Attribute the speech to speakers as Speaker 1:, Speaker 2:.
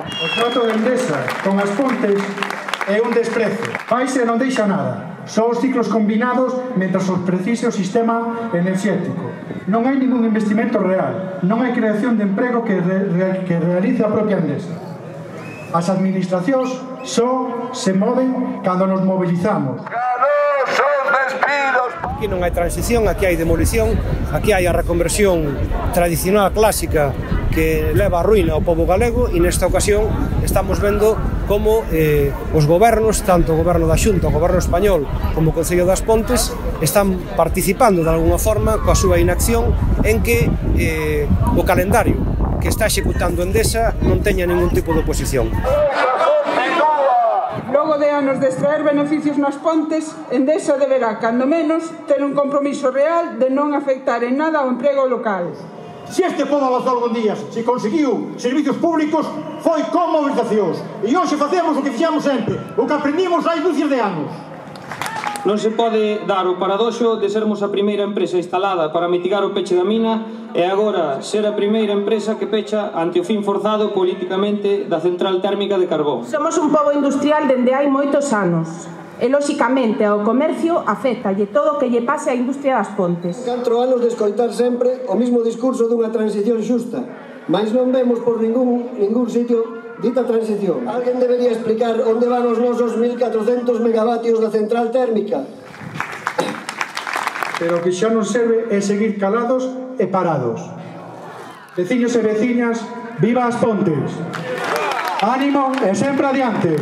Speaker 1: O trato de Endesa con as Pontes é un desprezo. Paise non deixa nada. Só os ciclos combinados mentras os precise o sistema enerxético. Non hai ningún investimento real. Non hai creación de emprego que realice a propia Endesa. As administracións só se moven cando nos mobilizamos.
Speaker 2: Aquí non hai transición, aquí hai demolición, aquí hai a reconversión tradicional clásica que leva a ruína ao pobo galego e nesta ocasión estamos vendo como os gobernos, tanto o goberno da Xunta, o goberno español como o Concello das Pontes están participando de alguna forma coa súa inacción en que o calendario que está executando Endesa non teña ningún tipo de oposición.
Speaker 3: Logo de anos de extraer beneficios nas Pontes, Endesa deberá, cando menos, ter un compromiso real de non afectar en nada ao emprego local.
Speaker 4: Se este pobo avanzou algún día, se conseguiu servicios públicos, foi con mobilizacións. E hoxe facemos o que fixamos sempre, o que aprendimos hai dúcias de anos.
Speaker 5: Non se pode dar o paradoxo de sermos a primeira empresa instalada para mitigar o peche da mina e agora ser a primeira empresa que pecha ante o fin forzado politicamente da central térmica de carbón.
Speaker 6: Somos un pobo industrial dende hai moitos anos e, lóxicamente, ao comercio afectalle todo o que lle pase á industria das Pontes.
Speaker 7: 4 anos de escoitar sempre o mismo discurso dunha transición xusta, mais non vemos por ningún sitio dita transición. Alguén debería explicar onde van os nosos 1.400 megavatios da central térmica.
Speaker 1: Pero o que xa non serve é seguir calados e parados. Veciños e veciñas, viva as Pontes! Ánimo e sempre adiante!